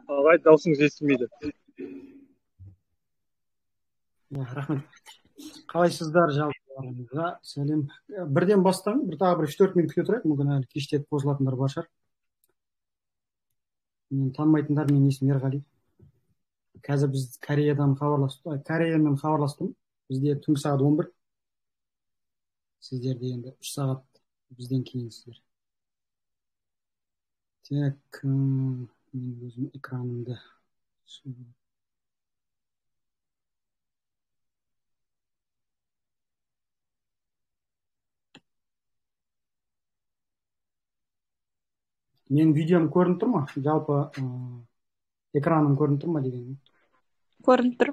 Ағай, даусыңыз естілмейді. Рахмет. Қалайсыздар, жалпыларыңызға сәлем. Бірден бастан, тағы бір 3-4 минут күте тұрайық, мүмкін әлі кештетіп қосылатындар бар шығар. Мен танымайтындар, менің есімім Ерғали. Қазір біз Кореямен хабарластым. Бізде түнгі сағат 11. Сіздерде енді 3 сағат бізден кейінсіздер. Так, мен өзім экранымды мен видеом көрініп тұр ма? Жалпы экраным көрініп тұр ма деген. Көрініп тұр.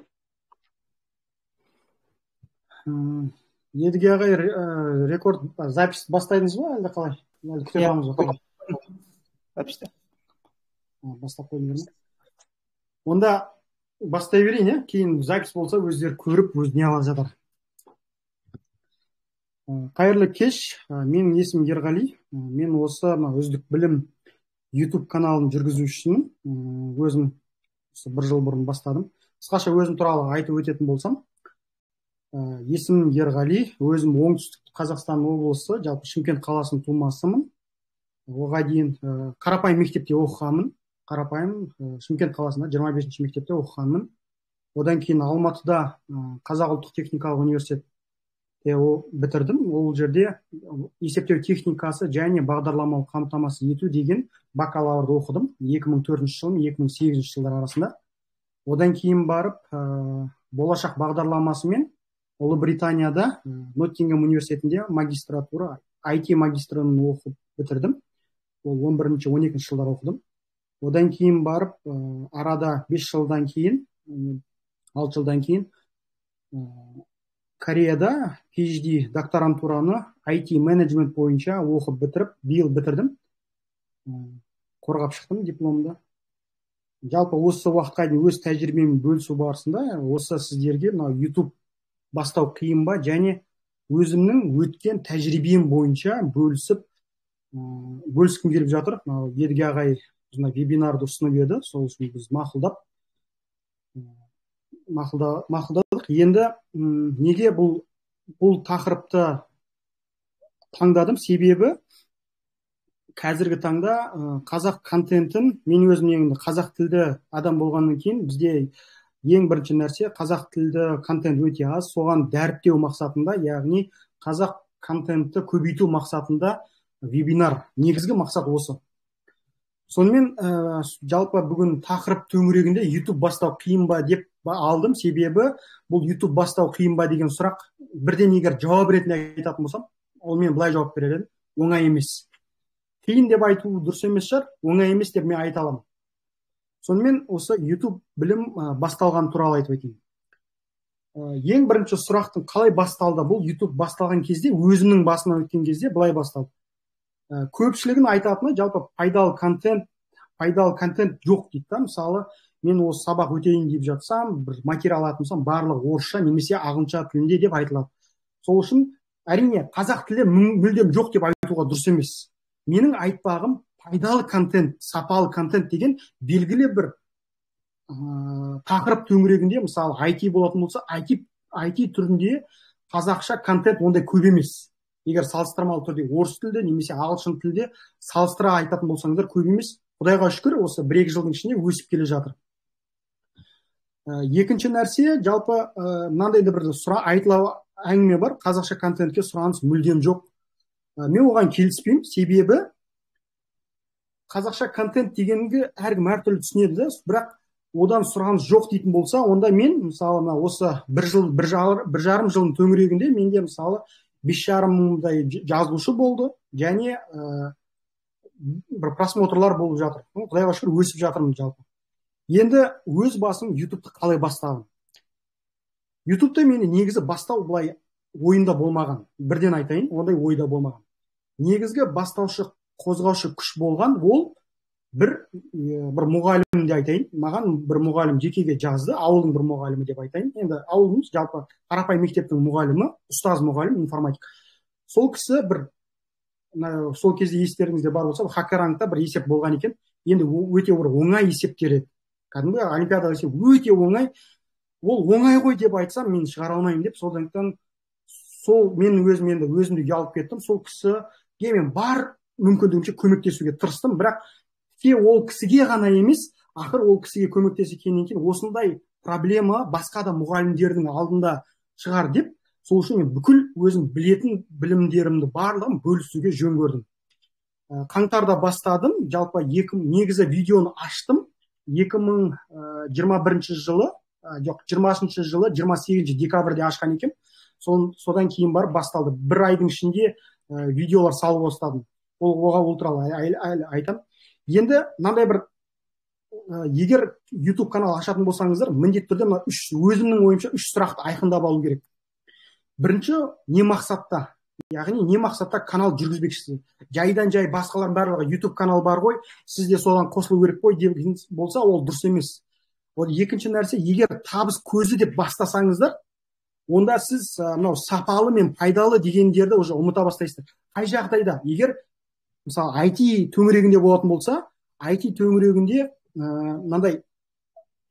Едіге ағай, рекорд запись бастайдыңыз ба, әлде қалай? Әлде күте тұрамыз ба? Записьте. Бастап қойдыңыз ба? Онда бастай берейін, кейін запись болса өздері көріп, өзіне ала жатар. Қайырлы кеш, менің есімім Ерғали. Мен осы үздік білім YouTube каналын жүргізушісімін. Өзім бір жыл бұрын бастадым. Қысқаша өзім туралы айтып өтетін болсам, есімім Ерғали, өзім оңтүстік Қазақстан облысы, жалпы Шымкент қаласының тумасымын. Оған дейін қарапайым мектепте оқығанмын. Қарапайым Шымкент қаласында 25-ші мектепте оқығанмын. Одан кейін Алматыда Қазақ ұлттық техникалық университетте бітірдім. Ол жерде есептеу техникасы және бағдарламалық қамтамасыз ету деген бакалаврды оқыдым. 2004 жыл, 2008 жылдар арасында. Одан кейін барып, болашақ бағдарламасымен Ұлыбританияда Ноттингем университетінде магистратура, IT магистрын оқып бітірдім. Ол 11-12 жылдар оқыдым. Одан кейін барып, арада 5 жылдан кейін, 6 жылдан кейін Кореяда PhD докторантураны IT менеджмент бойынша оқып бітіріп, биыл бітірдім. Қорғап шықтым дипломды. Жалпы осы уақытқа дейін өз тәжірибеммен бөлісу барысында, осы сіздерге YouTube бастау қиын ба, және өзімнің өткен тәжірибем бойынша бөліскім келіп жатыр. Едіге ағай вебинарды ұсынып еді, сол үшін біз мақұлдадық. Енді неге бұл тақырыпты таңдадым? Себебі қазіргі таңда қазақ контентін, мен өзім енді қазақ тілді адам болғаннан кейін, бізде ең бірінші нәрсе қазақ тілді контент өте аз, соған дәріптеу мақсатында, яғни қазақ контентті көбейту мақсатында вебинар, негізгі мақсат осы. Сонымен жалпы бүгін тақырып төңірегінде YouTube бастау қиын ба деп алдым, себебі бұл YouTube бастау қиын ба деген сұрақ бірден егер жауап ретінде айтатын болсам, ол мен былай жауап берер едім: оңай емес. Қиын деп айту дұрыс емес шығар, оңай емес деп мен айта аламын. Сонымен осы YouTube білім басталған туралы айтып өтейін. Ең бірінші сұрақтың қалай басталды? Бұл YouTube басталған кезде, өзімнің басынан өткен кезде былай басталды. Көпшілігін айтатыны жалпы пайдалы контент жоқ дейді. Мысалы, мен осы сабақ өтейін деп жатсам, бір материал алатын болсам, барлығы орысша немесе ағылшынша тілінде деп айтылады. Сол үшін әрине қазақ тілі мүлдем жоқ деп айтуға дұрыс емес. Менің айтпағым пайдалы контент, сапалы контент деген белгілі бір тақырып төңірегінде, мысалы IT болатын болса, IT түрінде қазақша контент ондай көп емес. Егер салыстырмалы түрде орыс тілде немесе ағылшын тілде салыстыра айтатын болсаңыздар, көп емес. Құдайға шүкір, осы 1-2 жылдың ішінде өсіп келе жатыр. Екінші нәрсе, жалпы мынандай да бір әңгіме бар, қазақша контентке сұраныс мүлдем жоқ. Мен оған келіспеймін, себебі қазақша контент дегенге әркім әртүрлі түсінеді, бірақ одан сұраныс жоқ дейтін болса, онда мен мысалы осы 1 жарым жылдың төңірегінде менде мысалы 5,5 мыңдай жазылушы болды, және бір просмотрлар болып жатыр. Құдайға шүкір, өсіп жатырмын жалпы. Енді өз басым YouTube'ты қалай бастадым? YouTube'ты мені негізі бастау былай ойында болмаған. Бірден айтайын, ондай ойда болмаған. Негізгі бастаушы, қозғаушы күш болған ол бір мұғалім де айтайын. Маған бір мұғалім жекеге жазды, ауылдың бір мұғалімі деп айтайын. Енді ауылымыз жалпы қарапайым мектептің мұғалімі, ұстаз мұғалім, информатик. Сол кісі сол кезде естеріңізде бар болса, хакерангта бір есеп болған екен. Енді өте бір оңай есептер еді. кәдімгі олимпиадаға десе өте оңай. Ол оңай ғой деп айтсам мен шығара алмаймын деп, сондықтан сол мен өзімді ұялып кеттім. Сол кісіге мен бар мүмкіндігімше көмектесуге тырыстым, бірақ ол кісіге ғана емес, ақыр ол кісіге көмектескеннен кейін осындай проблема басқа да мұғалімдердің алдында шығар деп, сол үшін мен бүкіл өзім білетін білімдерімді барлығын бөлісуге жөн көрдім. Қаңтарда бастадым, жалпы негізі видеоны аштым 2021 жылы, жоқ 20 жылы 28 декабрьде ашқан екен. Содан кейін барып басталды. Бір айдың ішінде видеолар салып бастадым. Ол туралы айтам. Енді мынандай бір, егер YouTube канал ашатын болсаңыздар, міндетті түрде өзімнің ойымша 3 сұрақты айқындап алу керек. Бірінші, не мақсатта? Яғни не мақсатта канал жүргізбекшісіз? Жайдан жай басқалардың барлығы YouTube канал бар ғой, сізде содан қосылу керек қой деп болса, ол дұрыс емес. Екінші нәрсе, егер табыс көзі деп бастасаңыздар, онда сіз мынау сапалы мен пайдалы дегендерді уже ұмыта бастайсыздар. Қай жағдайда? Егер мысалы IT төңірегінде болатын болса, IT төңірегінде мынандай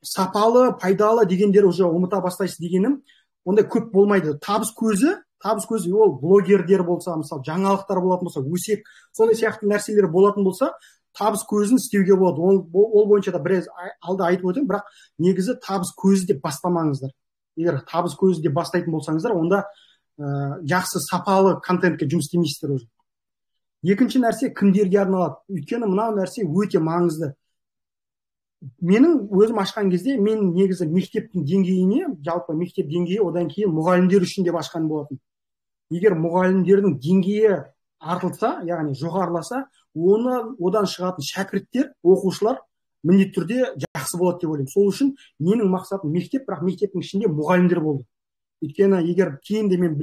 сапалы, пайдалы дегендер уже ұмыта бастайсыз дегенім, ондай көп болмайды. Табыс көзі ол блогерлер болса, мысалы жаңалықтар болатын болса, өсек, сондай сияқты нәрселер болатын болса, табыс көзін істеуге болады. Ол бойынша да біраз алда айтып өтем, бірақ негізі табыс көзі деп бастамаңыздар. Егер табыс көзі деп бастайтын болсаңыздар, онда жақсы сапалы контентке жұмыс істемейсіздер уже. Екінші нәрсе, кімдерге арналады? Өйткені мынау нәрсе өте маңызды. Менің өзім ашқан кезде мен негізі мектептің деңгейіне, жалпы мектеп деңгейі, одан кейін мұғалімдер үшін деп ашқан болатын. Егер мұғалімдердің деңгейі артылса, яғни жоғарыласа, одан шығатын шәкірттер, оқушылар міндетті түрде жақсы болады деп ойлаймын. Сол үшін менің мақсатым мектеп, бірақ мектептің ішінде мұғалімдер болды. Өйткені егер кейінде мен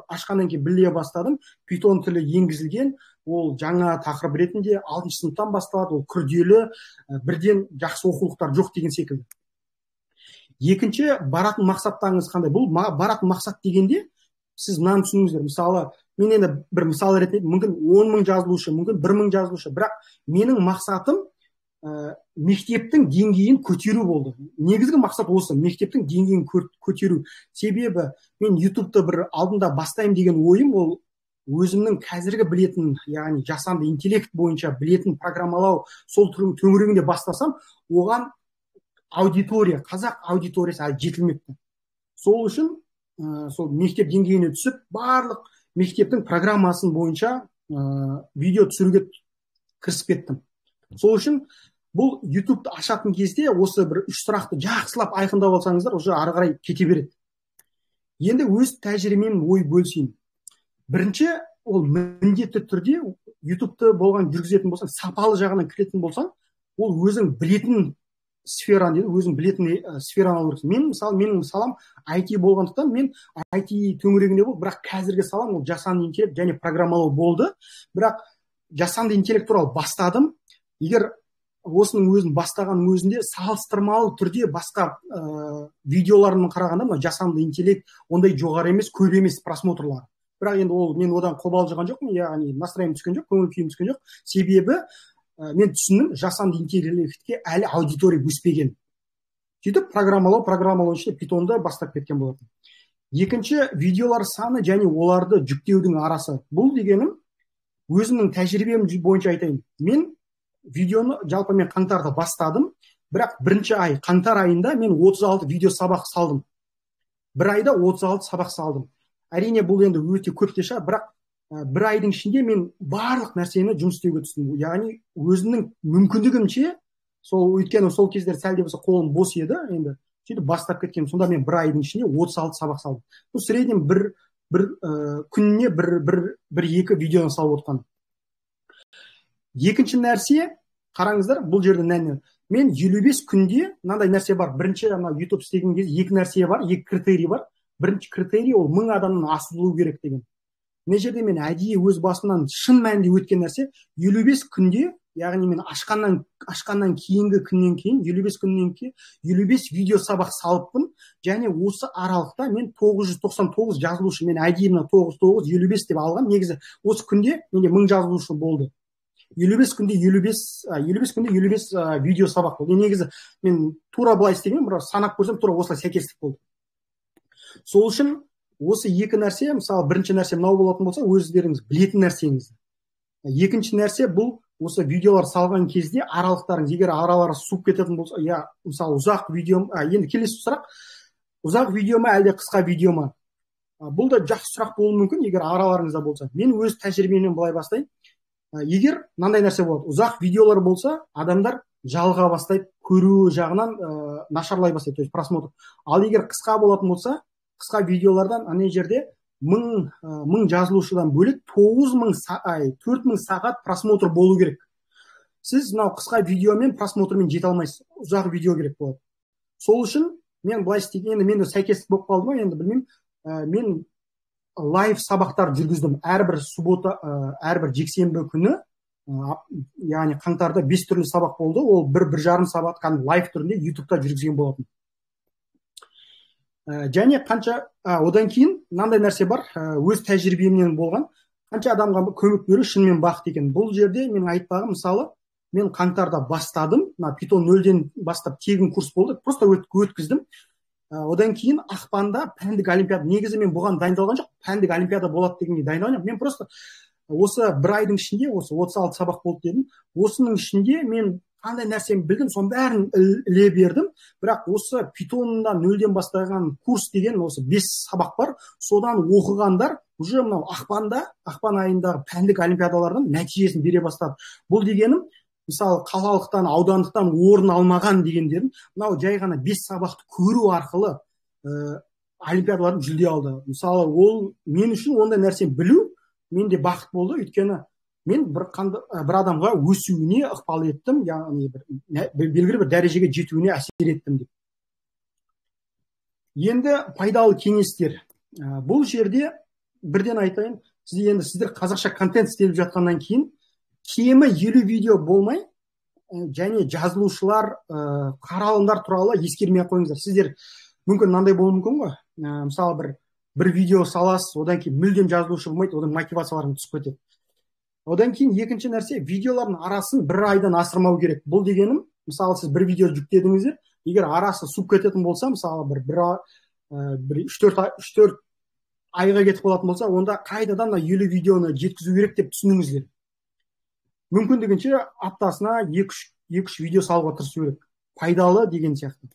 ашқаннан кейін біле бастадым, Python тілі енгізілген, ол жаңа тақырып ретінде 6 сыныптан басталады, ол күрделі, бірден жақсы оқулықтар жоқ деген секілді. Екінші, баратын мақсаттарыңыз қандай? Бұл баратын мақсат дегенде сіз мынаны түсініңіздер. Мысалы, мен енді бір мысал ретінде, мүмкін 10.000 жазылушы, мүмкін 1.000 жазылушы, бірақ менің мақсатым мектептің деңгейін көтеру болды. Негізгі мақсат осы, мектептің деңгейін көтеру. Себебі мен YouTube'ты бір алдында бастаймын деген ойым, ол өзімнің қазіргі білетін, яғни жасанды интеллект бойынша білетін программалау сол төңірегінде бастасам, оған аудитория, қазақ аудиториясы жетілмепті. Сол үшін сол мектеп деңгейіне түсіп, барлық мектептің программасын бойынша видео түсіруге кірісіп кеттім. Сол үшін бұл YouTube-ты ашатын кезде осы бір 3 сұрақты жақсылап айқындап алсаңыздар, уже ары қарай кете береді. Енді өз тәжірибеммен ой бөлісейін. Бірінші, ол міндетті түрде YouTube-ты болған жүргізетін болсаң, сапалы жағынан кіретін болсаң, ол өзің білетін сфераны дейді, өзің білетін сфераны алу керексің. Менің салам IT болғандықтан, мен IT төңірегінде бол, бірақ қазіргі салам ол жасанды интеллект және программалау болды. Бірақ жасанды интеллект туралы бастадым. Егер осының өзін бастаған өзінде салыстырмалы түрде басқа видеоларымның қарағанда, жасанды интеллект ондай жоғары емес, көп емес просмотрлары. Бірақ енді мен одан қобалжыған жоқпын, яғни настроением түскен жоқ, көңіл күйім түскен жоқ. Себебі мен түсіндім, жасанды интеллектке әлі аудитория өспеген. Сөйтіп программалау ішінде Python'ды бастап кеткен болатын. Екінші, видеолар саны және оларды жүктеудің арасы. Бұл дегенім өзімнің тәжірибем бойынша айтайын. Мен видеоны жалпы мен қаңтарда бастадым, бірақ бірінші ай, қаңтар айында мен 36 видео сабақ салдым. Бір айда 36 сабақ салдым. Әрине бұл енді өте көп те шығар, бірақ бір айдың ішінде мен барлық нәрсені жұмыс істеуге түстім. Яғни өзімнің мүмкіндігімше, өйткені сол кездер сәл де болса қолым бос еді, енді сөйтіп бастап кеткенмін. Сонда мен бір айдың ішінде 36 сабақ салдым. Бұл среднем бір күніне бір-екі видеоны салып отқан. Екінші нәрсе, қараңыздар, бұл жерде мен 55 күнде мынандай нәрсе бар. Бірінші YouTube істеген кезде екі нәрсе бар, екі критерий бар. Бірінші критерий ол 1000 адамнан асырылу керек деген. Мына жерде мен әдейі өз басымнан шын мәнінде өткен нәрсе, 55 күнде, яғни мен ашқаннан кейінгі күннен кейін, 55 күннен кейін 55 видео сабақ салыппын, және осы аралықта мен 999 жазылушы, мен әдейі 955 деп алған. Негізі осы күнде менде 1000 жазылушы болды. 55 күнде 55 видео сабақ болды. Негізі мен тура былай істеген, бірақ санап көрсем тура осылай сәйкестік болды. Сол үшін осы екі нәрсе, мысалы бірінші нәрсе мынау болатын болса, өздеріңіз білетін нәрсеңіз. Екінші нәрсе бұл осы видеолар салған кезде аралықтарыңыз, егер аралары суып кететін болса, я мысалы ұзақ видео, енді келесі сұрақ, ұзақ видео ма әлде қысқа видео ма? Бұл да жақсы сұрақ болуы мүмкін, егер араларыңызда болса. Мен өз тәжірибемнен былай бастайын. Егер мынандай нәрсе болады, ұзақ видеолар болса, адамдар жалға бастайды, көру жағынан нашарлай бастайды, то есть просмотр. Ал егер қысқа болатын болса, қысқа видеолардан ана жерде мың жазылушыдан бөлек 4000 сағат просмотр болу керек. Сіз мынау қысқа видеомен просмотрмен жете алмайсыз, ұзақ видео керек болады. Сол үшін мен былай істеген, енді менде сәйкестік болып қалды ма, енді білмеймін. Мен лайв сабақтар жүргіздім. Әрбір суббота, әрбір жексенбі күні, яғни қаңтарда 5 түрлі сабақ болды. Ол 1-1,5 сағат лайв түрінде ютубта жүргізген болатын. Және қанша, одан кейін мынандай нәрсе бар, өз тәжірибемнен болған, қанша адамға көмек беру шынымен бақыт екен. Бұл жерде мен айтпағым, мысалы, мен қаңтарда бастадым, Python 0-ден бастап тегін курс болды, просто өткіздім. Одан кейін ақпанда пәндік олимпиада, негізі мен бұған дайындалған жоқ, пәндік олимпиада болады дегенге дайындалған. Мен просто осы бір айдың ішінде, осы 36 сабақ болды дедім, осының ішінде мен қандай нәрсені білдім, соның бәрін іле бердім. Бірақ осы Python'да 0-ден бастаған курс деген осы 5 сабақ бар. Содан оқығандар уже мынау ақпан айындағы пәндік олимпиадалардан нәтижесін бере бастады. Бұл дегенім, мысалы қалалықтан, аудандықтан орын алмаған дегендерін, мынау жай ғана 5 сабақты көру арқылы олимпиадалардың жүлде алды. Мысалы, ол мен үшін ондай нәрсені білу менде бақыт болды, өйткені мен бір адамға өсуіне ықпал еттім, яғни белгілі бір дәрежеге жетуіне әсер еттім деп. Енді пайдалы кеңестер. Бұл жерде бірден айтайын, сіздер қазақша контент істеліп жатқаннан кейін кемі 50 видео болмай, және жазылушылар, қаралымдар туралы ескермей қойыңыздар. Сіздер мүмкін мынандай болуы мүмкін ғой. Мысалы бір видео саласыз, одан кейін мүлдем жазылушы болмайды, одан мотивацияларың түсіп кетеді. Одан кейін екінші нәрсе, видеолардың арасын бір айдан асырмау керек. Бұл дегенім, мысалы сіз бір видео жүктедіңіздер, егер арасы суып кететін болса, мысалы бір 3-4 айға кетіп қалатын болса, онда қайтадан 50 видеоны жеткізу керек деп түсініңіздер. Мүмкіндігінше аптасына 2-3 видео салуға тырысу керек. Пайдалы деген сияқты.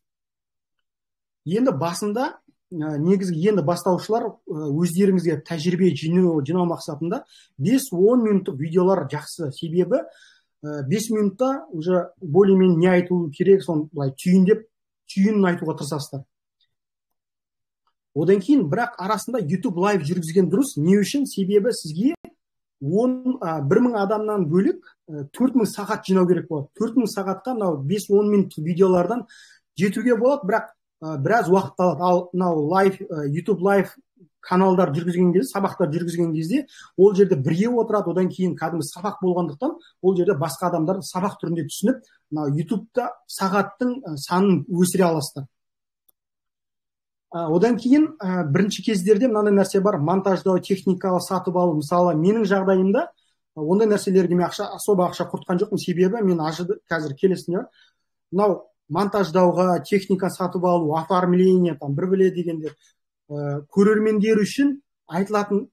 Енді басында, негізгі енді бастаушылар өздеріңізге тәжірибе жинау мақсатында 5-10 минуттық видеолар жақсы. Себебі 5 минутта уже более-менее не айту керек, соны түйінін айтуға тырысасыздар. Одан кейін бірақ арасында YouTube лайв жүргізген дұрыс. Не үшін? Себебі сізге 1000 адамнан бөлек 4000 сағат жинау керек болады. 4000 сағатқа 5-10 минуттық видеолардан жетуге болады, бірақ біраз уақыт алады. Ал мынау YouTube лайв каналдар жүргізген кезде, сабақтар жүргізген кезде, ол жерде бірге отырады, одан кейін кәдімгі сабақ болғандықтан, ол жерде басқа адамдар сабақ түрінде түсініп, YouTube'да сағаттың санын өсіре аласыздар. Одан кейін бірінші кездерде мынандай нәрсе бар, монтаждау, техникалы сатып алу. Мысалы, менің жағдайымда ондай нәрселерге мен особо ақша құртқан жоқпын, себебі мен қазір келесіне мынау монтаждауға, техника сатып алу, оформление, бір дегендер көрермендер үшін айтылатын,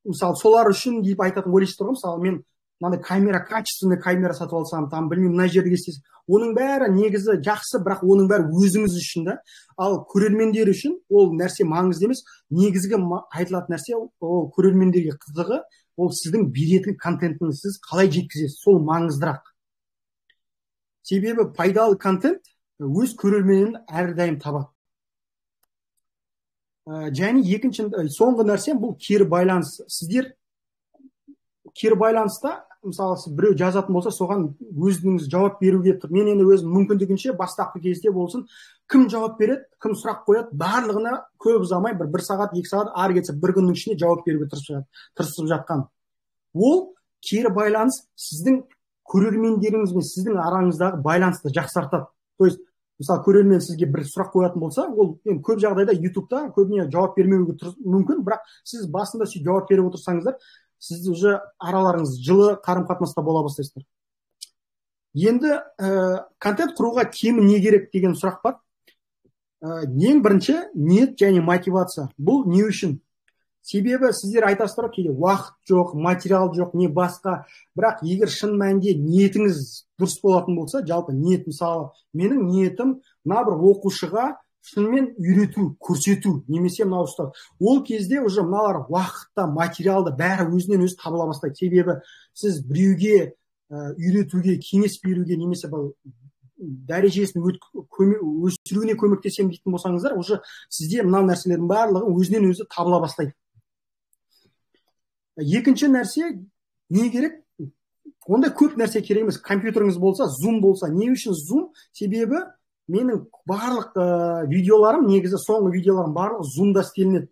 мысалы солар үшін deyip айтатын ойлайсыздар ғой. Мысалы мен мынандай камера, качественный камера сатып алсам, білмеймін, мына жерге істесем, оның бәрі негізі жақсы, бірақ оның бәрі өзіңіз үшін да. Ал көрермендер үшін ол нәрсе маңызды емес. Негізгі айтылатын нәрсе, ол көрермендерге қызығы, ол сіздің беретін контентіңізді сіз қалай жеткізесіз, сол маңыздырақ. Себебі пайдалы контент өз көрерменін әрдайым табады. Және соңғы нәрсе бұл кері байланыс. Сіздер кері байланыста, мысалы, біреу жазатын болса, соған өзіңіз жауап беруге, мен енді өзім мүмкіндігінше бастапқы кезде болсын, кім жауап береді, кім сұрақ қояды, барлығына көп ұзамай, бір сағат, 2 сағат, ары кетсе бір күннің ішінде жауап беруге тырысып жатқан. Ол кері байланыс сіздің көрермендеріңіз бен сіздің араңыздағы байланысты жақсартады. То есть, мысалы, көрермен сізге бір сұрақ қоятын болса, ол көп жағдайда YouTube-та көбіне жауап бермеуге мүмкін, бірақ сіз басында жауап беріп отырсаңыздар, сіз уже араларыңыз жылы қарым қатынаста бола бастайсыздар. Енді контент құруға кемі не керек деген сұрақ бар. Ең бірінші ниет және мотивация. Бұл не үшін? Себебі сіздер айтасыздар кейде уақыт жоқ, материал жоқ, не басқа. Бірақ егер шын мәнінде ниетіңіз дұрыс болатын болса, жалпы ниет, мысалы, менің ниетім мына бір оқушыға шынымен үйрету, көрсету, немесе мынау ұстау. Ол кезде уже мыналар уақытта, материалда бәрі өзінен өзі табыла бастайды. Себебі сіз біреуге үйретуге, кеңес беруге, немесе дәрежесін өсіруіне көмектесем дейтін болсаңыздар, уже сізде мына нәрселердің барлығы өзінен өзі табыла бастайды. Екінші нәрсе, не керек? Онда көп нәрсе керек емес. Компьютеріңіз болса, Zoom болса. Не үшін Zoom? Себебі менің барлық видеоларым, негізі соңғы видеоларым барлығы Zoom-да істелінеді.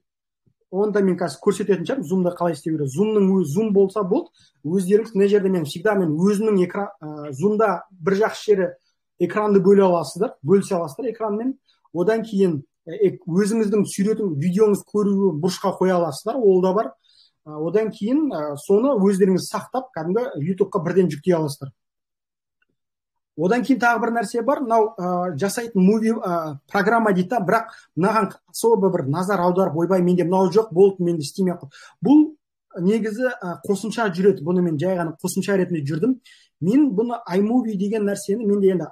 Онда мен қазір көрсететін шығармын, Zoom-да қалай істеу керек. Zoom болса болды. Өздеріңіз мына жерде мен өзімнің Zoom-да бір жақсы жері экранды бөлісе аласыздар экранмен. Одан кейін өзіңіздің сүйретің видеоңыз көруі бұрышқа қоя аласыздар, ол да бар. Одан кейін соны өздеріңіз сақтап, кәдімгі YouTube-қа бірден жүктей аласыздар. Одан кейін тағы бір нәрсе бар, мынау жасайтын программа дейді, бірақ мынаған особо бір назар аударып, ойбай, менде мынау жоқ, болды, менде істемей ақ. Бұл негізі қосымша жүреді. Бұны мен жай ғана қосымша ретінде жүрдім. Мен бұны iMovie деген нәрсені, менде енді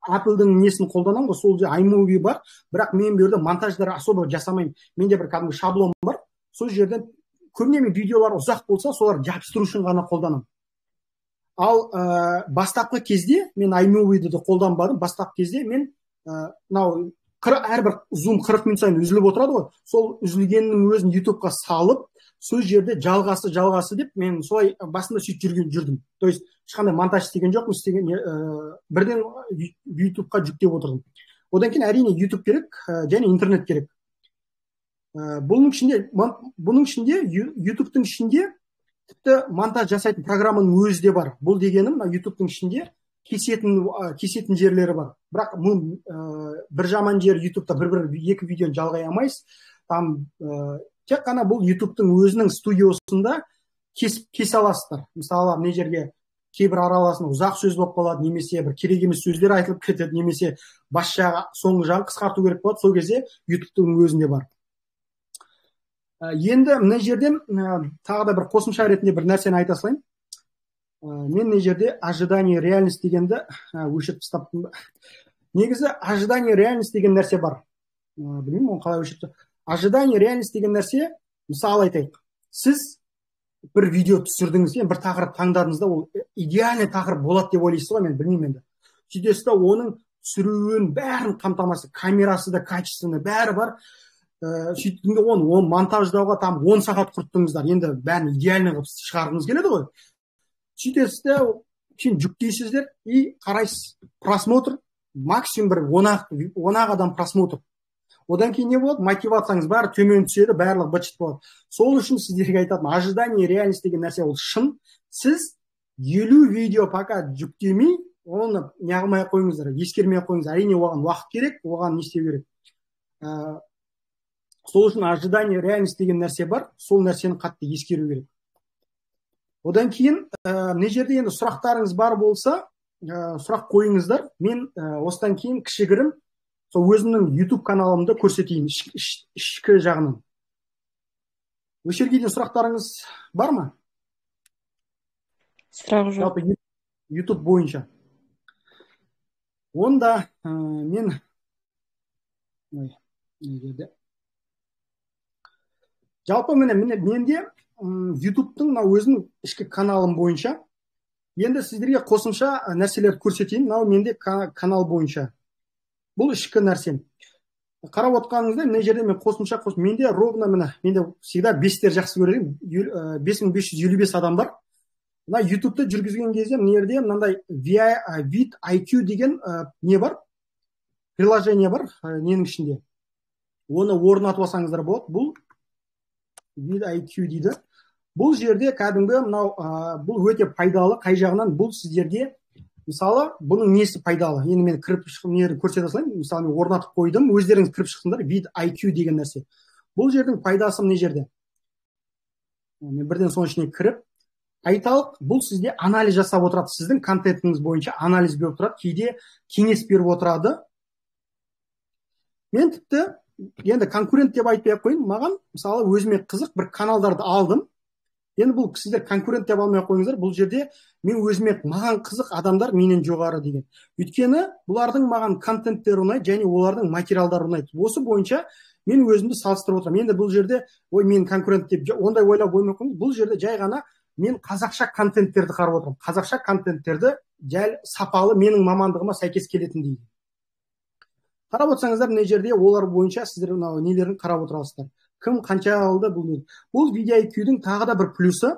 Apple-дың несін қолданамын ғой, сол же iMovie бар, бірақ мен берді монтаждар особо жасамаймын. Менде бір кәдімгі шаблон бар. Сол жерден көбіне мен видеолар ұзақ болса, солар жабыстыру үшін ғана қолданамын. Ал бастапқы кезде мен iMovie-ді қолданбадым. Бастапқы кезде мен әрбір Zoom 40 минут сайын үзіліп отырады ғой. Сол үзілгеннің өзін YouTube-ға салып, сол жерде жалғасы деп мен солай басында сөйтіп жүрдім. То есть ешқандай монтаж істеген жоқпын, бірден YouTube-қа жүктеп отырдым. Одан кейін әрине YouTube керек және интернет керек. Бұның ішінде YouTube-тың ішінде тіпті монтаж жасайтын программаның өзі де бар. Бұл дегенім YouTube-тың ішінде кесетін жерлері бар. Бірақ бір жаман жер YouTube-та екі видеоны жалғай алмайсыз. Там тек қана бұл YouTube-тың өзінің студиосында кесе аласыздар. Мысалы, не жерге кейбір араласында ұзақ сөз болып қалады, немесе бір керек емес сөздер айтылып кетеді, немесе бас жағы, соңғы жағын қысқарту керек болады. Сол кезде YouTube-тың өзінде бар. Енді мына жерден тағы да бір қосымша ретінде бір нәрсені айта салайын. Мен мына жерде ожидание реальность дегенді өшіріп тастаппын. Негізі ожидание реальность деген нәрсе бар. Білмеймін, оны қалай өшіріп. Ожидание реальность деген нәрсе, мысалы айтайық, сіз бір видео түсірдіңіз, бір тақырып таңдадыңыз да, ол идеальный тақырып болады деп ойлайсыз ғой, мен білмеймін енді. Сөйтесіз да оның түсіруін бәрін қамтамасыз, камерасы да качественный, бәрі бар. Сөйттіңде оны монтаждауға там 10 сағат құрттыңыздар. Енді бәрін идеальный қылып шығарғыңыз келеді ғой. Сөйтесіз де, жүктейсіздер и қарайсыз. Просмотр максимум бір 10 адам просмотр. Одан кейін не болады? Мотивацияңыз бәрі төмен түседі, барлығы быт-шыт болады. Сол үшін сіздерге айтатын ожидание реальность деген нәрсе ол шын. Сіз 50 видео пока жүктемей, оны неғылмай қойыңыздар, ескермей қойыңыздар. Әрине оған уақыт керек, оған не істеу керек. Сол үшін ожидание реальность деген нәрсе бар, сол нәрсені қатты ескеру керек. Одан кейін мына жерде енді сұрақтарыңыз бар болса, сұрақ қойыңыздар. Мен осыдан кейін кішігірім сол өзімнің YouTube каналымды көрсетейін ішкі жағынан. Осы жерге дейін сұрақтарыңыз бар ма? Сұрақ жоқ. Жалпы YouTube бойынша. Онда мен жалпы менде YouTube-тың өзінің ішкі каналым бойынша енді сіздерге қосымша нәрселерді көрсетейін. Менде канал бойынша. Бұл ішкі нәрсем. Қарап отқаныңызда, мына жерде мен қосымша менде ровно менде всегда 5-тер жақсы көрем. 5555 адам бар. YouTube-ты жүргізген кезде мына жерде мынандай vidIQ деген не бар? Приложение бар, ненің ішінде. Оны орнатып алсаңыздар болады. Бұл vidIQ дейді. Бұл жерде кәдімгі бұл өте пайдалы, қай жағынан бұл сіздерге мысалы, бұның несі пайдалы? Енді мен кіріп шыққым көрсете салайын. Мысалы, мен орнатып қойдым, өздеріңіз кіріп шықсыңдар, vidIQ деген нәрсе. Бұл жердің пайдасы мына жерде. мен бірден соның ішіне кіріп айталық, бұл сізде анализ жасап отырады, сіздің контентіңіз бойынша анализ беріп отырады, кейде кеңес беріп отырады. Мен тіпті енді конкурент деп айтпай ақ қояйын, маған мысалы өзіме қызық бір каналдарды алдым. Енді бұл сіздер конкурент деп алмай ақ қойыңыздар, бұл жерде мен өзіме маған қызық адамдар менен жоғары деген. Өйткені бұлардың маған контенттері ұнайды және олардың материалдары ұнайды. Осы бойынша мен өзімді салыстырып отырамын. Енді бұл жерде ой мен конкурент деп ондай ойлап қоймай ақ қойыңыз. Бұл жерде жай ғана мен қазақша контенттерді қарап отырмын. Қазақша контенттерді жай сапалы менің мамандығыма сәйкес келетін дейді. Қарап отырсаңыздар, мына жерде олар бойынша сіздер мынау нелерін қарап отырасыздар. Кім қанша алды бұл видео IQ-дің тағы да бір плюсы.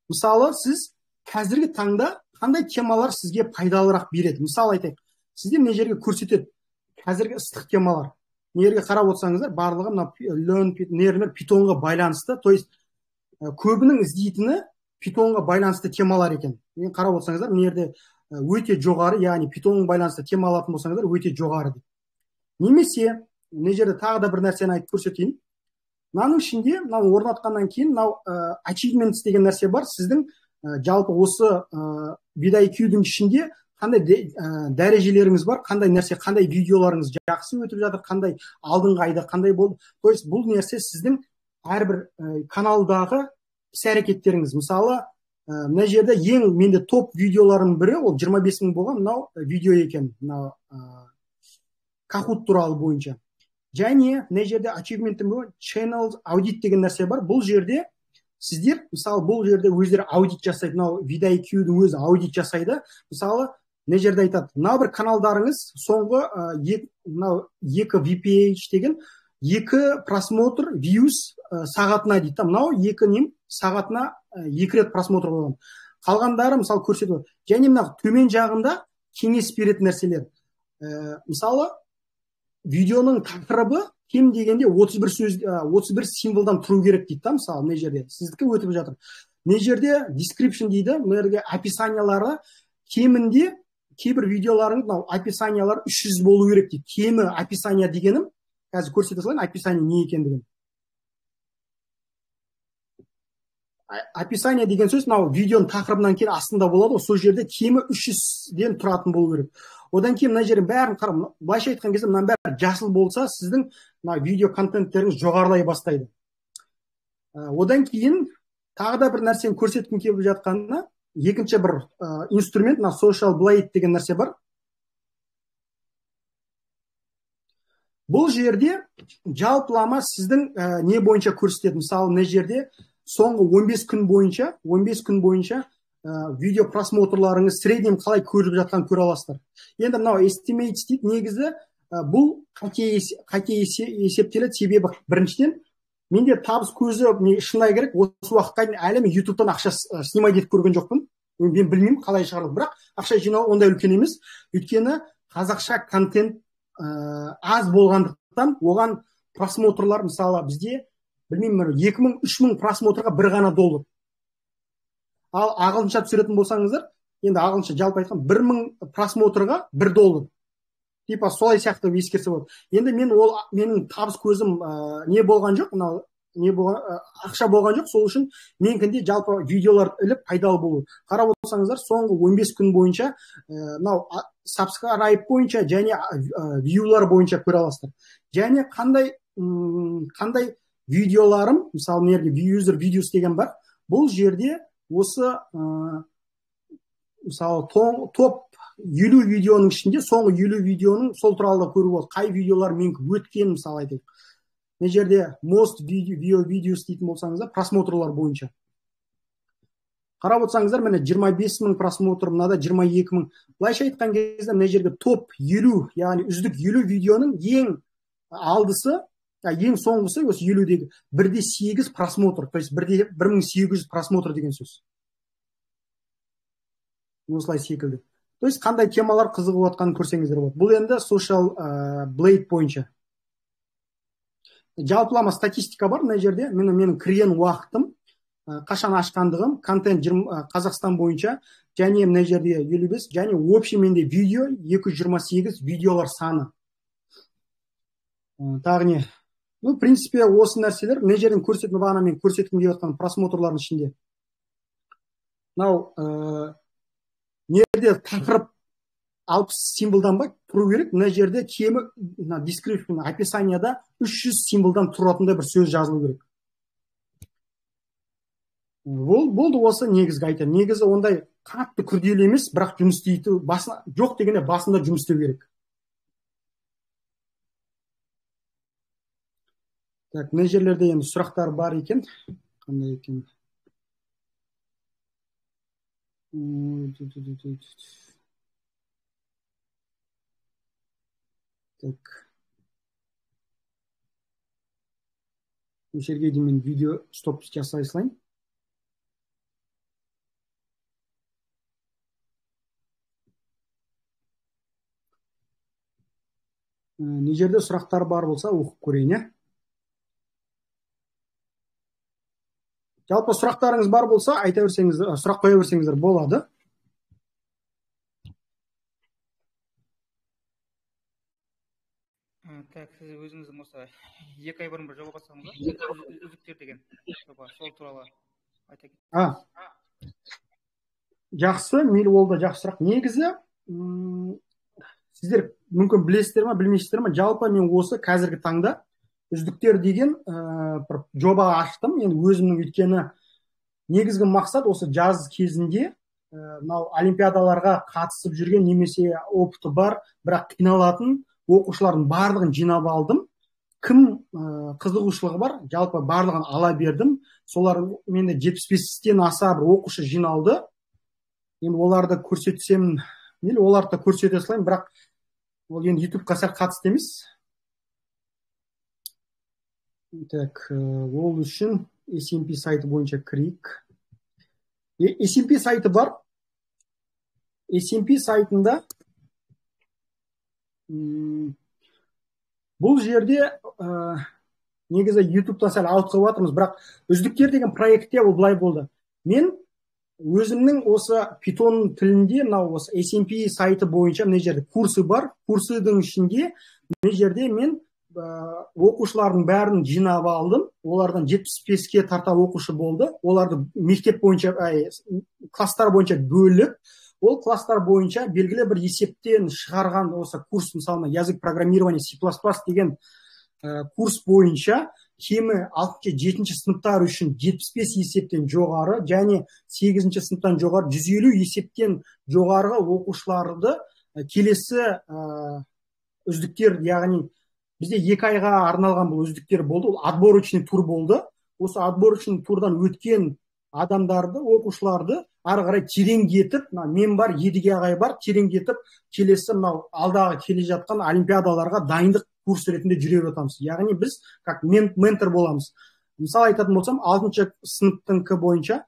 Мысалы, сіз қазіргі таңда қандай темалар сізге пайдалырақ береді? Мысалы айтайық, сізде мына жерге көрсетеді қазіргі ыстық темалар. Мына жерге қарап отырсаңыздар, барлығы мына питонға байланысты, то есть көбінің іздейтіні питонға байланысты темалар екен. Мен қарап отырсаңыздар, мына жерде өте жоғары, яғни питонға байланысты тема алатын болсаңыздар, өте жоғары дейді. Немесе мына жерде тағы да бір нәрсені айтып көрсетейін. Мынаның ішінде, мынау орнатқаннан кейін, мынау achievements деген нәрсе бар. Сіздің жалпы осы VidIQ-дің ішінде қандай дәрежелеріңіз бар, қандай нәрсе, қандай видеоларыңыз жақсы өтіп жатыр, қандай алдыңғы айда қандай болды. То есть бұл нәрсе сіздің әрбір каналдағы іс-әрекеттеріңіз. Мысалы, мына жерде ең менде топ видеоларының бірі, ол 25 000 болған мынау видео екен, мынау Kahoot туралы бойынша. Және мына жерде achievement channel аудит деген нәрсе бар. Бұл жерде сіздер, мысалы, бұл жерде өздері аудит жасайды, мынау VidIQ-дің өзі аудит жасайды. Мысалы, мына жерде айтады, мынау бір каналдарыңыз соңғы мынау 2 VPH деген 2 просмотр views сағатына дейді. Мынау 2 сағатына 2 рет просмотр болған. Қалғандары мысалы көрсетеді. Және мына төмен жағында кеңес беретін нәрселер. Мысалы, видеоның тақырыбы кем дегенде 31 символдан тұру керек дейді. Мысалы, мына жерде сіздікі өтіп жатыр. Мына жерде description дейді. Мына жерде описаниялары кемінде кейбір видеоларың мынау описаниялар 300 болу керек дейді. Кемі описание дегенім қазір көрсете салайын, описание не екендігін. Описание деген сөз мынау видеоның тақырыбынан кейін астында болады, сол жерде кемі 300-ден тұратын болу керек. Одан кейін мына жердің бәрін қарап, былайша айтқан кезде мынаның бәрі жасыл болса, сіздің мына видео контенттеріңіз жоғарылай бастайды. Одан кейін тағы да бір нәрсені көрсеткім келіп жатқанына, екінші бір инструмент, мына Social Blade деген нәрсе бар. Бұл жерде жалпылама сіздің не бойынша көрсетеді. Мысалы, мына жерде соңғы 15 күн бойынша видео просмотрларыңыз среднем қалай көріп жатқан көре аласыздар. Енді мынау estimates дейді, негізі бұл қате есептеледі, себебі біріншіден менде табыс көзі шынай керек, осы уақытқа дейін әлі мен YouTube-тан ақша снимай етіп көрген жоқпын. Мен білмеймін қалай шығарылды, бірақ ақша жинау ондай үлкен емес. Өйткені қазақша контент аз болғандықтан оған просмотрлар, мысалы бізде білмеймін, 2000-3000 просмотрға бір ғана $1. Ал ағылшынша түсіретін болсаңыздар, енді ағылшынша жалпы айтқан 1000 просмотрға $1. Типа солай сияқты ескерсе болады. Енді менің табыс көзім не болған жоқ, мынау ақша болған жоқ, сол үшін менікінде жалпы видеолар іліп пайдалы болу. Қарап отырсаңыздар, соңғы 15 күн бойынша мынау subscribe бойынша және вьюлар бойынша көре аласыздар. Және қандай видеоларым, мысалы мына жерде user videos деген бар. Бұл жерде осы мысалы топ 50 видеоның ішінде соңғы 50 видеоның сол туралы көріп болады. Қай видеолар мен өткен, мысалы айтайық. Мына жерде most video videos дейтін болсаңыздар, просмотрлар бойынша. Қарап отырсаңыздар, міне 25 000 просмотр, мынада 22 000. Былайша айтқан кезде мына жерге топ 50, яғни үздік 50 видеоның ең алдысы, ең соңғысы осы 50-дегі 1/8 просмотр, то есть 1800 просмотр деген сөз. Осылай секілді. То есть қандай темалар қызығып отқанын көрсеңіздер болады. Бұл енді Social Blade бойынша. Жалпылама статистика бар мына жерде. Менің кірген уақытым, қашан ашқандығым, контент Қазақстан бойынша, және мына жерде 55, және общий менде видео 228 видеолар саны. Тағы не? В принципе, осы нәрселер мына жерден көрсететін бағана мен көрсеткім келіп жатқан просмотрлардың ішінде. Мынау не жерде тақырып 60 символдан ба тұру керек. Мына жерде кемі description описанияда 300 символдан тұратындай бір сөз жазылу керек. Болды, осы негізгі айтайын. Негізі ондай қатты күрделі емес, бірақ жұмыс істейтін жоқ дегенде басында жұмыс істеу керек. Так, мына жерлерде енді сұрақтар бар екен. Қандай екен? Так. Осы жерге дейін мен видео стоп жасай салайын. Не жерде сұрақтар бар болса, оқып көрейін, иә? Жалпы сұрақтарыңыз бар болса, айта берсеңіздер, сұрақ қоя берсеңіздер болады. Так, сіз өзіңіздің осы 2 ай бұрын бір жоба бастадыңыз ба? Үздіктер деген жоба, сол туралы айта кетсеңіз. Жақсы, мейлі, ол да жақсы сұрақ. Негізі, сіздер мүмкін білесіздер ме, білмейсіздер ме, жалпы мен осы қазіргі таңда үздіктер деген бір жоба аштым. Енді өзімнің өйткені негізгі мақсат осы жаз кезінде мынау олимпиадаларға қатысып жүрген немесе опыты бар, бірақ қиналатын оқушылардың барлығын жинап алдым. Кім қызығушылығы бар, жалпы барлығын ала бердім. Солар менде 75-тен аса бір оқушы жиналды. Енді оларды көрсетсем, мейлі, оларды да көрсете салайын, бірақ ол енді YouTube-қа сәл қатысты емес. Так, ол үшін SMP сайты бойынша кірейік. SMP сайты бар. SMP сайтында бұл жерде негізі YouTube-та сәл ауытқып жатырмыз, бірақ үздіктер деген проектте ол былай болды. Мен өзімнің осы Python тілінде мынау осы SMP сайты бойынша мына жерде курсы бар. Курсының ішінде мына жерде мен оқушылардың бәрін жинап алдым. Олардан 75-ке тарта оқушы болды. Оларды мектеп бойынша, класстар бойынша бөліп, ол класстар бойынша белгілі бір есептен шығарған осы курс, мысалы язык программирования C++ деген курс бойынша кемі 6-7 сыныптар үшін 75 есептен жоғары және 8 сыныптан жоғары 150 есептен жоғарғы оқушыларды келесі үздіктер, яғни бізде 2 айға арналған бұл үздіктер болды. Ол отборочный тур болды. Осы отборочный турдан өткен адамдарды, оқушыларды ары қарай тереңдетіп, мен бар, Едіге ағай бар, тереңдетіп келесі мынау алдағы келе жатқан олимпиадаларға дайындық курс ретінде жүре жатамыз. Яғни біз как ментор боламыз. Мысалы айтатын болсам, 6 сыныптыңқы бойынша,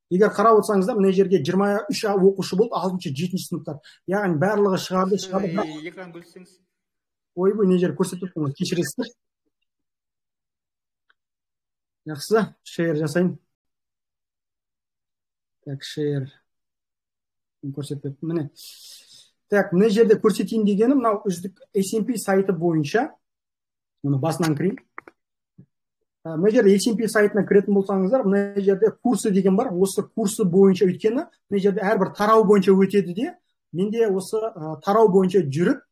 егер қарап отырсаңыздар, мына жерде 23 оқушы болды, 6-7 сыныптар. Яғни барлығы шығарды. Экран бөлсеңіз. Ойбой, не жер көрсетіп тұрмын, кешіресіздер. Жақсы, шер жасайын. Так, шер көрсетіп, міне. Так, мына жерде көрсетейін дегенім, мынау үздік SMP сайты бойынша, мұны басынан кірейін. Мына жерде SMP сайтына кіретін болсаңыздар, мына жерде курсы деген бар. Осы курсы бойынша өткені, мына жерде әрбір тарау бойынша өтеді де, менде осы тарау бойынша жүріп,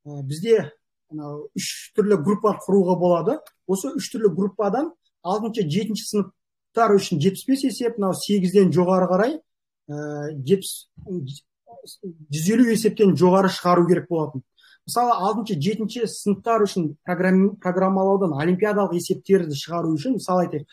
бізде 3 түрлі группа құруға болады. Осы 3 түрлі группадан 6-7 сыныптар үшін 75 есеп, 8-ден жоғары қарай 150 есептен жоғары шығару керек болатын. Мысалы, 6-7 сыныптар үшін программалаудан олимпиадалық есептерді шығару үшін, мысалы айтайық.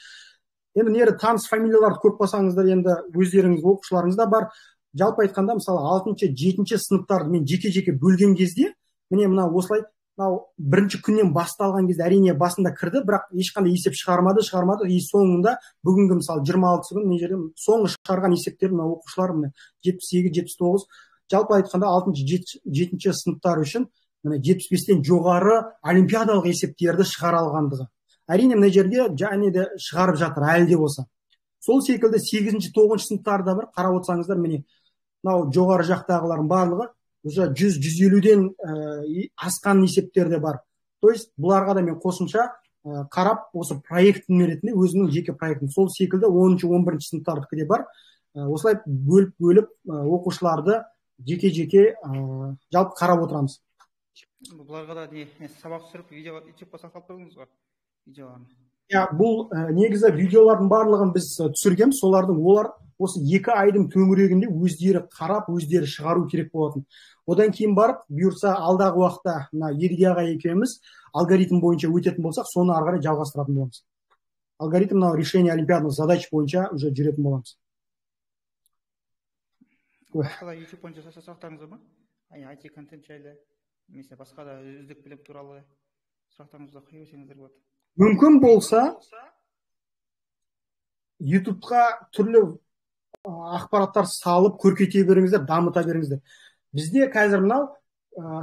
Енді нері таныс фамилияларды көп болсаңыздар, енді өздеріңіз оқушыларыңыз да бар. Жалпы айтқанда, мысалы 6-7 сыныптарды мен жеке-жеке бөлген кезде, міне мына осылай, бірінші күннен басталған кезде әрине басында кірді, бірақ ешқандай есеп шығармады, и соңында бүгінгі мысалы 26 күн не жерде соңғы шығарған есептер мына оқушылар міне 78-79, жалпы айтқанда 6-7 сыныптар үшін міне 75-тен жоғары олимпиадалық есептерді шығара алғандығы. Әрине мына жерге және де шығарып жатыр әлі де болса. Сол секілді 8-9 сыныптарда бір қарап отырсаңыздар, міне мынау жоғары жақтағылардың барлығы уже 100-150-ден асқан есептерде бар. То есть бұларға да мен қосымша қарап осы проектін ретінде өзінің жеке проектін, сол секілді 10-11 сыныптардікі де бар. Осылай бөліп оқушыларды жеке жалпы қарап отырамыз. Бұларға да сабақ түсіріп видео ютубқа салып қойдыңыз ғой видеоларын? Бұл негізі видеолардың барлығын біз түсіргенбіз. Олар осы 2 айдың төңірегінде өздері қарап, өздері шығару керек болатын. Одан кейін барып, бұйырса алдағы уақытта мына Едіге аға екеуміз алгоритм бойынша өтетін болсақ, соны ары қарай жалғастыратын боламыз. Алгоритм мынау решение олимпиадных задач бойынша уже жүретін боламыз. Басқа да YouTube бойынша сұрақтарыңыз бар ма? IT контент жайлы, немесе басқа да үздік білім туралы сұрақтарыңызды қоя берсеңіздер болады. Мүмкін болса, YouTube-қа түрлі ақпараттар салып, көркейте беріңіздер, дамыта беріңіздер. Бізде қазір мынау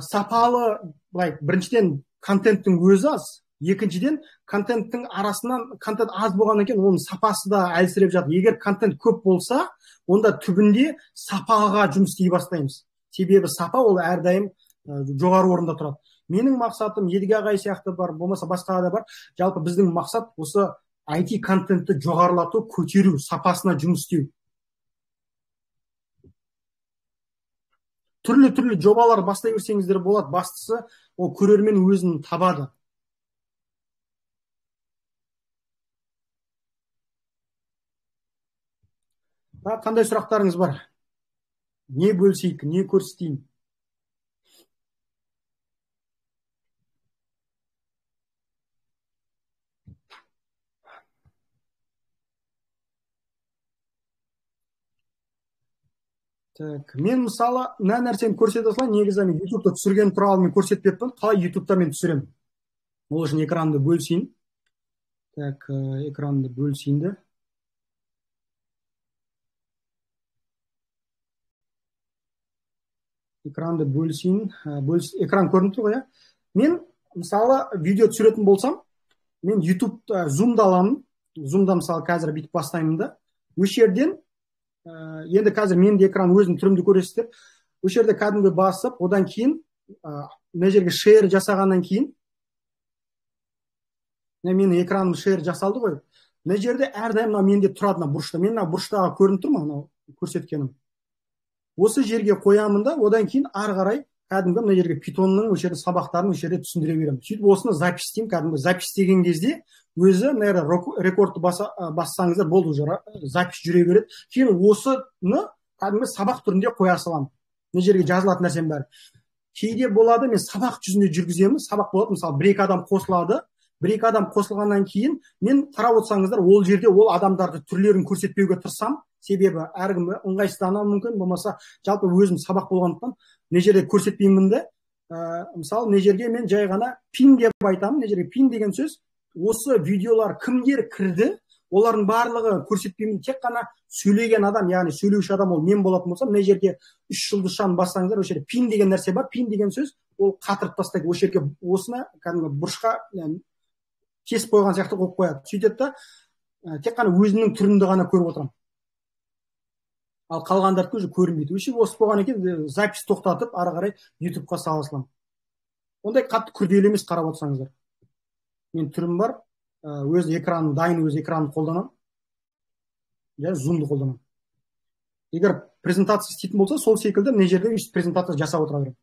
сапалы, біріншіден контенттің өзі аз, екіншіден контенттің арасынан контент аз болғаннан кейін оның сапасы да әлсіреп жатыр. Егер контент көп болса, онда түбінде сапаға жұмыс істей бастаймыз. Себебі сапа ол әрдайым жоғары орында тұрады. Менің мақсатым Едіге ағай сияқты бар, болмаса басқа да бар. Жалпы біздің мақсат осы IT контентті жоғарылату, көтеру, сапасына жұмыс істеу. Түрлі жобалар бастай берсеңіздер болады. Бастысы ол көрермен өзін табады. Қандай сұрақтарыңыз бар? Не бөлісейік, не көрсетейін? Мен мысалы мына нәрсені көрсете салайын. Негізі мен YouTube-та түсірген туралы мен көрсетпеппін. Қалай YouTube-та мен түсіремін? Ол үшін экранды бөлісейін. Экранды бөлісейінді. Экранды бөлісейін. Экран көрініп тұр ғой, Мен мысалы видео түсіретін болсам, мен YouTube-та Zoom-да аламын. Zoom-да мысалы қазір бүйтіп бастаймын да. Осы жерден енді қазір менде экран өзінің түрімді көресіздер. Осы жерде кәдімгі басып, одан кейін мына жерге шер жасағаннан кейін менің экраным шер жасалды ғой. Мына жерде әрдайым менде тұрады бұрышта. Мен бұрыштағы көрініп тұр ма көрсеткенім. Осы жерге қоямын да, одан кейін ары қарай кәдімгі мына жерге питонның осы жерде сабақтарын осы жерде түсіндіре беремін. Сөйтіп осыны запись істеймін. Кәдімгі запись деген кезде өзі рекордты бассаңыздар болды, уже запись жүре береді. Кейін осыны кәдімгі сабақ түрінде қоя саламын. Мына жерге жазылатын нәрсем бәрі. Кейде болады, мен сабақ жүзінде жүргіземін. Сабақ болады, мысалы 1-2 адам қосылады. 1-2 адам қосылғаннан кейін мен қарап отырсаңыздар, ол жерде ол адамдарды түрлерін көрсетпеуге тырысамын. Себебі әркім ыңғайсыздануы мүмкін, болмаса жалпы өзім сабақ болғандықтан мына жерде көрсетпеймін де. Мысалы мына жерге мен жай ғана пин деп айтамын. Мына жерге пин деген сөз, осы видеолар кімдер кірді, олардың барлығы көрсетпеймін. Тек қана сөйлеген адам, яғни сөйлеуші адам ол мен болатын болса, мына жерге 3 жұлдызшаны бассаңыздар, осы жерде пин деген нәрсе бар. Пин деген сөз ол қатырып тастайды. Осы жерге осыны кәдімгі бұрышқа кесіп қойған сияқты қойып қояды. Сөйтеді да тек қана өзінің түрінде ғана көріп отырамын. Ал қалғандарды уже көрінбейді. Осы болған екен, запись тоқтатып, ары қарай YouTube-қа сала саламын. Ондай қатты күрделі емес, қарап отырсаңыздар. Мен түрім бар, өз экраным дайын, өз экранымды қолданамын. Zoom-ды қолданамын. Егер презентация істейтін болса, сол секілді мына жерде өйстіп презентация жасап отыра беремін.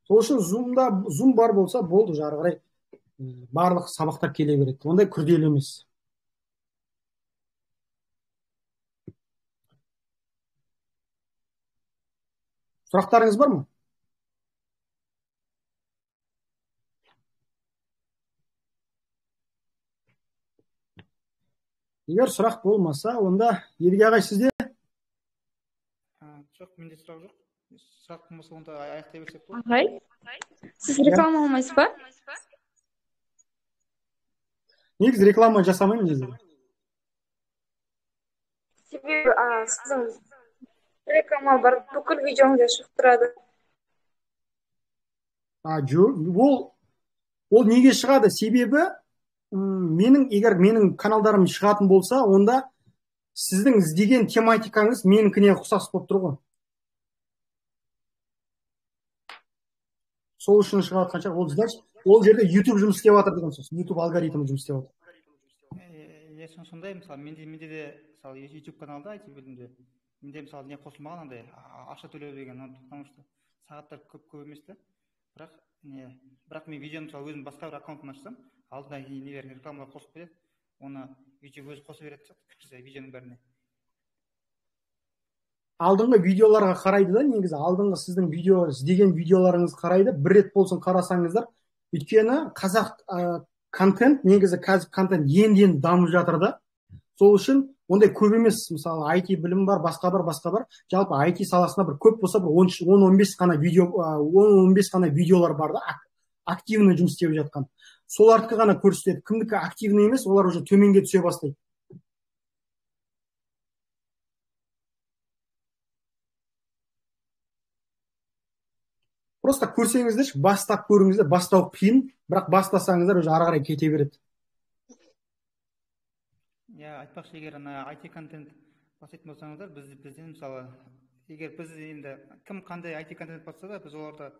Сол үшін Zoom бар болса болды, ары қарай барлық сабақтар келе береді. Ондай күрделі емес. Сұрақтарыңыз бар ма? Егер сұрақ болмаса, онда Едіге ағай сізде? Жоқ, менде сұрақ жоқ. Сұрақ болмаса, онда аяқтай берсек болады. Ағай, сіз реклама алмайсыз ба? Негізі реклама жасамаймын деді. Себебі сіздің реклама бар, бүкіл видеоңызда шығып тұрады. Жоқ, ол неге шығады? Себебі егер менің каналдарым шығатын болса, онда сіздің іздеген тематикаңыз менікіне ұқсас болып тұр ғой. Сол үшін шығып жатқан шығар. Ол жерде YouTube жұмыс істеп жатыр деген сөз. YouTube алгоритмі жұмыс істеп жатыр. Сондай, мысалы, менде де, мысалы, YouTube каналда IT бөлімде, менде, мысалы, не қосылмаған андай ақша төлеу деген, потому что сағаттар көп емес та. Бірақ мен видеоны, мысалы, өзім басқа бір аккаунтын ашсам, алдына нелер рекламалар қосып береді, оны YouTube өзі қосып береді видеоның бәріне. Алдыңғы видеоларға қарайды да, негізі алдыңғы сіздің видео іздеген видеоларыңыз қарайды, бір рет болсын қарасаңыздар. Өйткені қазақ контент, негізі қазір контент енді дамып жатыр да. Сол үшін ондай көп емес, мысалы IT білім бар, басқа бар. Жалпы IT саласында бір көп болса бір 10-15 қана видео, 10-15 қана видеолар бар да, активный жұмыс істеп жатқан. Солардікі ғана көрсетеді. Кімдікі активный емес, олар уже төменге түсе бастайды. Просто көрсеңіздер, бастап көріңіздер, бастау қиын, бірақ бастасаңыздар уже ары қарай кете береді. Айтпақшы, егер IT контент бастайтын болсаңыздар, бізден, мысалы, егер біз енді кім қандай IT контент бастаса да, біз оларды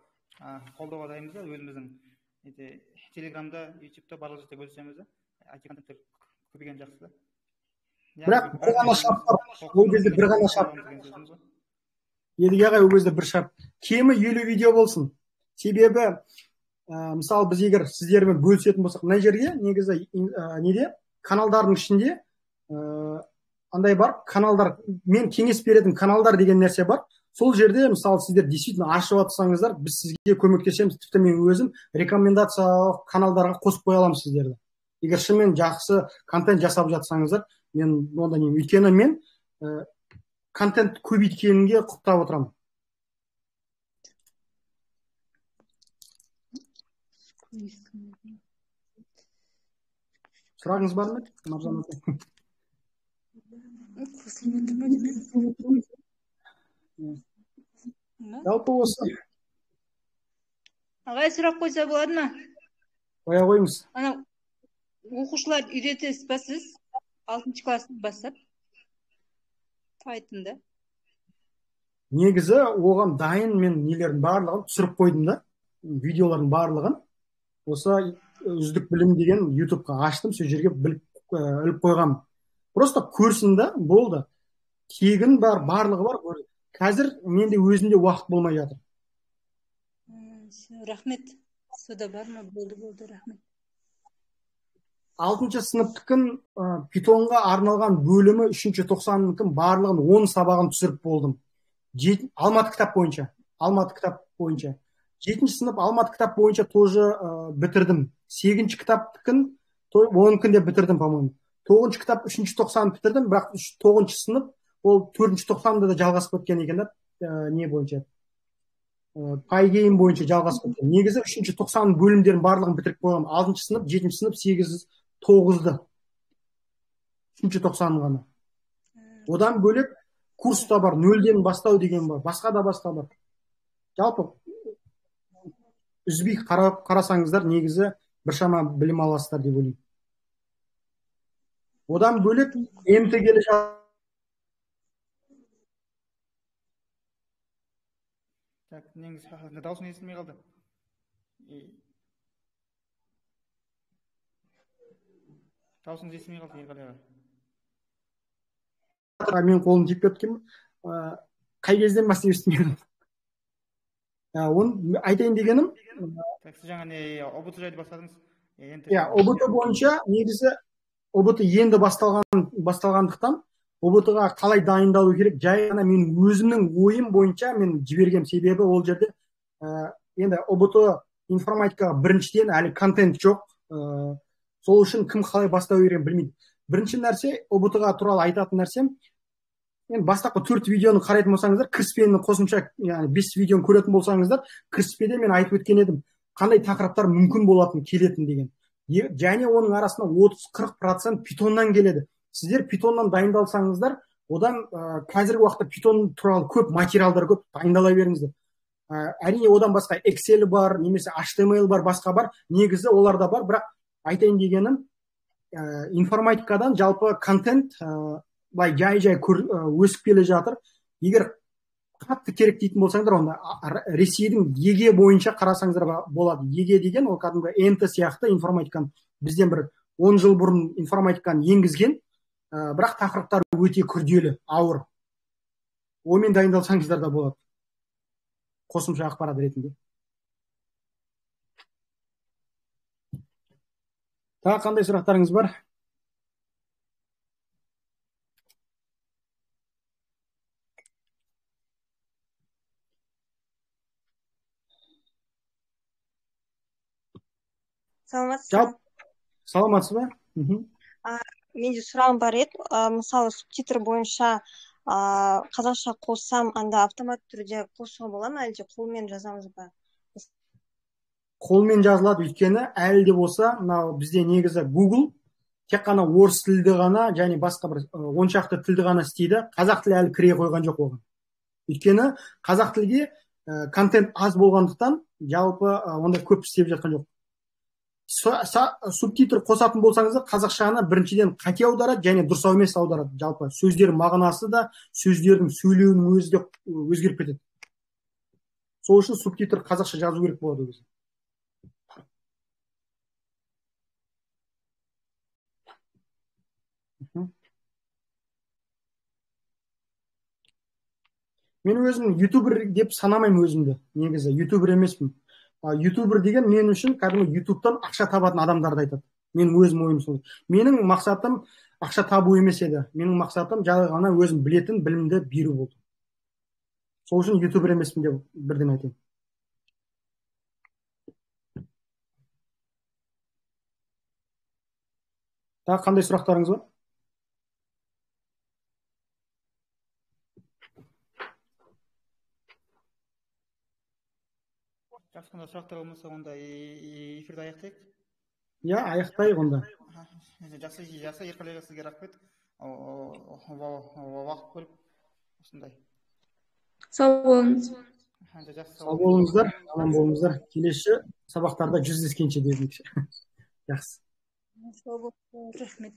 қолдауға дайынбыз да, өзіміздің Телеграмда, YouTube'да барлық жерде бөлісеміз да, IT контенттер көбейген жақсы да. Бірақ бір ғана шарт бар, ол кезде бір ғана шарт. Едіге ағай, ол кезде бір шарт. Кемі 50 видео болсын. Себебі, мысалы, біз егер сіздермен бөлісетін болсақ, мына жерге негізі неде каналдардың ішінде андай бар, каналдар, мен кеңес беретін каналдар деген нәрсе бар. Сол жерде, мысалы, сіздер действительно ашып атсаңыздар, біз сізге көмектесеміз, тіпті мен өзім рекомендация каналдарға қосып қоя аламын сіздерді. Егер шынымен жақсы контент жасап жатсаңыздар, мен онда не, өйткені мен контент көбейткенге құптап отырамын. Сұрағыңыз бар ма, Маржан ата? Жалпы осы. Ағай, сұрақ қойса болады ма? Қоя қойыңыз. Оқушылар үйретесіз ба сіз? 6-шы класстан бастап Python'да. Негізі оған дайын мен нелердің барлығын түсіріп қойдым да, видеолардың барлығын. Осы үздік білім деген YouTube'ға аштым, сол жерге іліп қойғам. Просто көрсін да, болды. Тегін бар, барлығы бар. Қазір менде өзімде уақыт болмай жатыр. Рахмет. Сода бар ма? Болды, рахмет. 6-шы сыныптықын питонға арналған бөлімі 3-ші 90-ның барлығын 10 сабағын түсіріп болдым. Алматы кітап бойынша. 7-ші сынып Алматы кітап бойынша тоже бітірдім. 8-ші кітаптықын 10 күнде бітірдім, по-моему. 9-ші кітап 3-ші 90 бітірдім, бірақ 9-ші сынып ол 4-ші 90-да да жалғасып кеткен екен да, не бойынша. Пайгейм бойынша жалғасып кеткен. Негізі 3-ші 90 бөлімдерін барлығын бітіріп қойғам. 6-ші сынып, 7-ші сынып, 8-ші 9-ды. 3-ші 90 ғана. Одан бөлек курста бар, 0-ден бастау деген бар, басқа да бар. Жалпы үзбей қарасаңыздар, негізі біршама білім аласыздар деп ойлаймын. Одан бөлек МТГ-лі негізі даусың естілмей қалды. Даусыңыз естілмей қалды, Ерғали аға. Мен қолым тиіп кеткен, қай кезден бастап естімедім. Оны айтайын дегенім, сіз жаңа ОБТ жайлы бастадыңыз. ОБТ бойынша негізі ОБТ енді басталғандықтан ОБТ-ға қалай дайындалу керек, жай ғана мен өзімнің ойым бойынша мен жібергем. Себебі ол жерде енді ОБТ информатикаға біріншіден әлі контент жоқ. Сол үшін кім қалай бастау керегін білмейді. Бірінші нәрсе, ОБТ-ға туралы айтатын нәрсем, мен бастапқы 4 видеоны қарайтын болсаңыздар, кіріспені қосымша 5 видеоны көретін болсаңыздар, кіріспеде мен айтып өткен едім, қандай тақырыптар мүмкін болатын, келетін деген. Және оның арасында 30-40% питоннан келеді. Сіздер питоннан дайындалсаңыздар, одан қазіргі уақытта питон туралы көп материалдар көп, дайындала беріңіздер. Әрине одан басқа Excel бар, немесе HTML бар, басқа бар, негізі оларда бар, бірақ айтайын дегенім, информатикадан жалпы контент былай жай өсіп келе жатыр. Егер қатты керек дейтін болсаңдар, онда Ресейдің ЕГЭ бойынша қарасаңыздар болады. ЕГЭ деген ол кәдімгі НТ сияқты информатиканы бізден бір 10 жыл бұрын информатиканы енгізген, бірақ тақырыптары өте күрделі, ауыр. Онымен дайындалсаңыздар да болады. Қосымша ақпарат ретінде. Тағы қандай сұрақтарыңыз бар? Саламатсыз ба? Менде сұрағым бар еді. Мысалы, субтитр бойынша қазақша қоссам, анда автомат түрде қосуға бола ма, әлде қолмен жазамыз ба? Қолмен жазылады, өйткені әлі де болса, бізде негізі Google тек қана орыс тілді ғана, және басқа бір 10 шақты тілді ғана істейді. Қазақ тілі әлі кіре қойған жоқ оған. Өйткені қазақ тілге контент аз болғандықтан, жалпы онда көп істеп жатқан жоқ. Субтитр қосатын болсаңыздар, қазақшаны біріншіден қате аударады, және дұрыс емес аударады. Жалпы сөздердің мағынасы да, сөздердің сөйлеуінің өзі де өзгеріп кетеді. Сол үшін субтитр қазақша жазу керек болады өзі. Мен өзім ютубер деп санамаймын өзімді. Негізі ютубер емеспін. Ютубер деген мен үшін кәдімгі ютубтан ақша табатын адамдарды айтады. Мен өзім ойым сол. Менің мақсатым ақша табу емес еді. Менің мақсатым жай ғана өзім білетін білімді беру болды. Сол үшін ютубер емеспін деп бірден айтайын. Тағы қандай сұрақтарыңыз бар? Жақсы, қандай сұрақтар болмаса, онда эфирді аяқтайық. Иә, аяқтайық онда. Жақсы, ерқали сізге рахмет. Уақыт бөліп осындай. Сау болыңыз. Сау болыңыздар, аман болыңыздар. Келесі сабақтарда жүздескенше дедік. Жақсы. Сау болыңыз, рахмет.